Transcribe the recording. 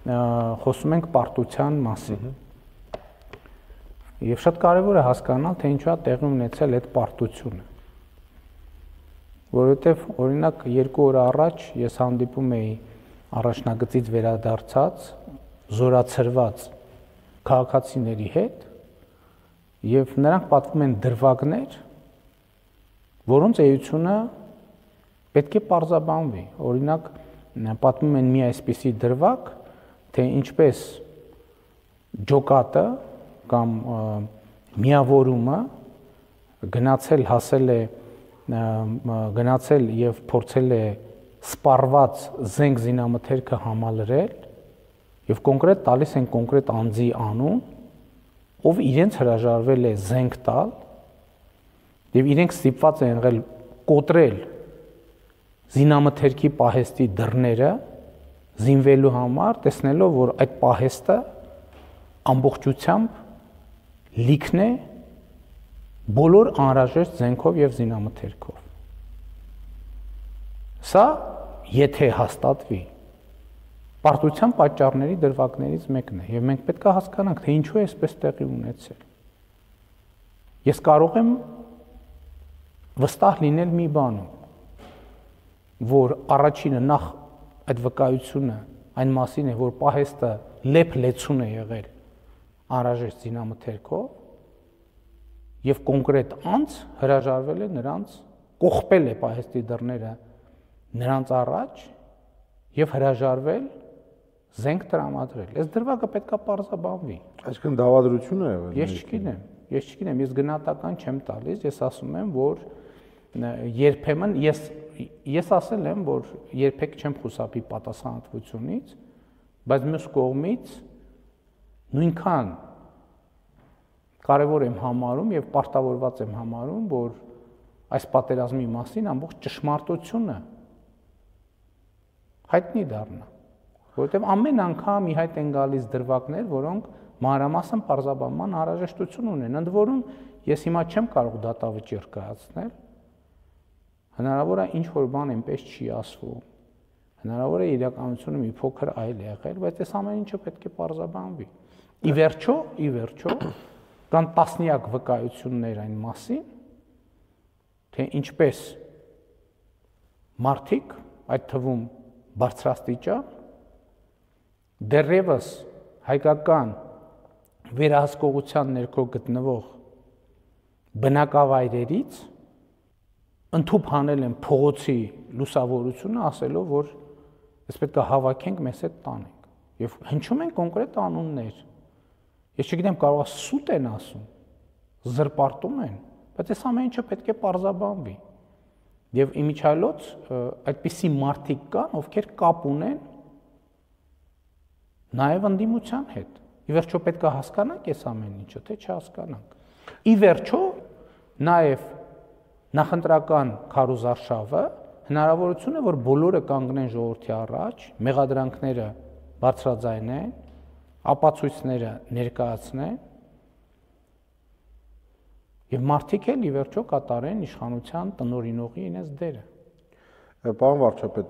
խոսում ենք պարտության մասին։ Եվ շատ կարևոր է հասկանալ, թե ինչու է տեղի ունեցել այդ պարտությունը։ Որովհետև օրինակ 2 օր առաջ ես հանդիպում էի առաջնագծից վերադարձած, զորացրված քաղաքացիների հետ, եւ նրանք պատվում են դրվագներ, որոնց էությունը պետք է պարզաբանվի։ Օրինակ պատմում են մի այսպիսի դրվագ, թե ինչպես ջոկատը կամ միավորումը գնացել եւ փորձել է սպառված զենք զինամթերքը համալրել եւ կոնկրետ տալիս են կոնկրետ անձի անուն, ով իրենց հրաժարվել է զենք տալ եւ իրենք ստիպված են եղել կոտրել զինամթերքի պահեստի դռները զինվելու համար, տեսնելով, որ այդ պահեստը ամբողջությամբ լիքն է բոլոր անհրաժեշտ զենքով եւ զինամթերքով։ Սա եթե հաստատվի, պարտության պատճառների դրվագներից մեկն է եւ մենք պետք է հասկանանք, թե ինչու է այսպես տեղի ունեցել։ Ես կարող եմ վստահ լինել մի բանում, որ առաջինը նախ այդ վկայությունը այն մասին է, որ պահեստը լեփ-լեցուն է եղել անհրաժեշտ զինամթերքով եւ կոնկրետ անձ հրաժարվել է նրանց, կողպել է պահեստի դռները նրանց առաջ եւ հրաժարվել զենք տրամադրել։ Այս դրվագը պետքա պարզաբանվի։ Այսինքն դավադրություն է եղել։ Ես չգիտեմ, ես գնահատական չեմ տալիս, ես ասում եմ, որ երբեմն ես ասել եմ, որ երբեք չեմ խուսափի պատասխանատվությունից, բայց մյուս կողմից նույնքան կարևոր եմ համարում եւ պարտավորված եմ համարում, որ այս պատերազմի մասին ամբողջ ճշմարտությունը հայտնի դառնա, որովհետեւ ամեն անգամ ի հայտ են գալիս դրվագներ, որոնք մանրամասն պարզաբանման անհրաժեշտություն ունեն։ Ընդ որում ես հիմա չեմ կարող դատավճիռ կայացնել, հնարավոր է ինչ որ բան այնպես չի ասվում, հնարավոր է իրականությունը մի փոքր այլ եղել, բայց այս ամեն ինչը պետք է պարզաբանվի։ Ի վերջո կան տասնյակ վկայություններ այն մասին, թե ինչպես մարդիկ, այդ թվում բարձրաստիճան, դեռևս հայկական վերահսկողության ներքո գտնվող բնակավայրերից ընդհուպ հանել են փողոցի լուսավորությունը, ասելով, որ ես պետք է հավաքենք, մեզ հետ տանենք։ Եվ հնչում են կոնկրետ անուններ։ Ես չգիտեմ, կարող է սուտ են ասում, զրպարտում են, բայց այս ամեն ինչը պետք է պարզաբանվի։ Եվ իմիջիայլոց այդպիսի մարդիկ կան, ովքեր կապ ունեն նաև ընդդիմության հետ։ Ի վերջո պետք է հասկանանք այս ամեն ինչը, թե չհասկանանք։ Ի վերջո նաև նախընտրական քարոզարշավը հնարավորություն է, որ բոլորը կանգնեն ժողովրդի առաջ, մեղադրանքները բարձրաձայնեն, ապացույցները ներկայացնեն եւ մարդիկ էլ ի վերջո կատարեն իշխանության տնօրինողի իրենց դերը։ Պարոն վարչապետ,